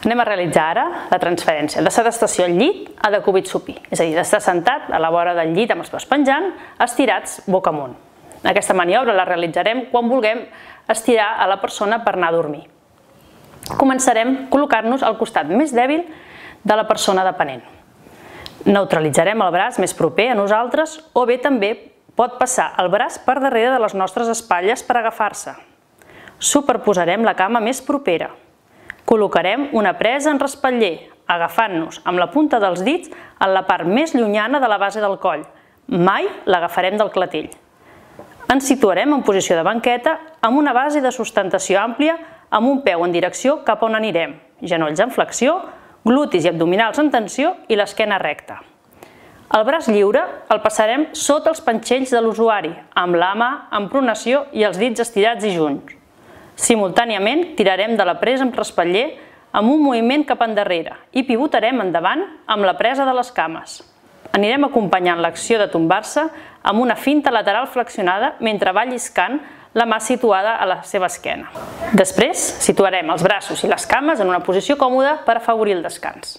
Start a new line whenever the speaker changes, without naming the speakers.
Anem a realitzar ara la transferència de sedestació al llit a decúbit supí, és a dir, d'estar sentat a la vora del llit amb els peus penjant, estirats boca amunt. Aquesta maniobra la realitzarem quan vulguem estirar a la persona per anar a dormir. Començarem col·locant-nos al costat més dèbil de la persona dependent. Neutralitzarem el braç més proper a nosaltres o bé també pot passar el braç per darrere de les nostres espatlles per agafar-se. Superposarem la cama més propera. Col·locarem una presa en respatller, agafant-nos amb la punta dels dits en la part més llunyana de la base del coll. Mai l'agafarem del clatell. Ens situarem en posició de banqueta amb una base de sustentació àmplia amb un peu en direcció cap on anirem, genolls en flexió, glutis i abdominals en tensió i l'esquena recta. El braç lliure el passarem sota els panxells de l'usuari, amb la mà en pronació i els dits estirats i junts. Simultàniament tirarem de la presa amb respatller amb un moviment cap endarrere i pivotarem endavant amb la presa de les cames. Anirem acompanyant l'acció de tombar-se amb una finta lateral flexionada mentre va lliscant la mà situada a la seva esquena. Després situarem els braços i les cames en una posició còmoda per afavorir el descans.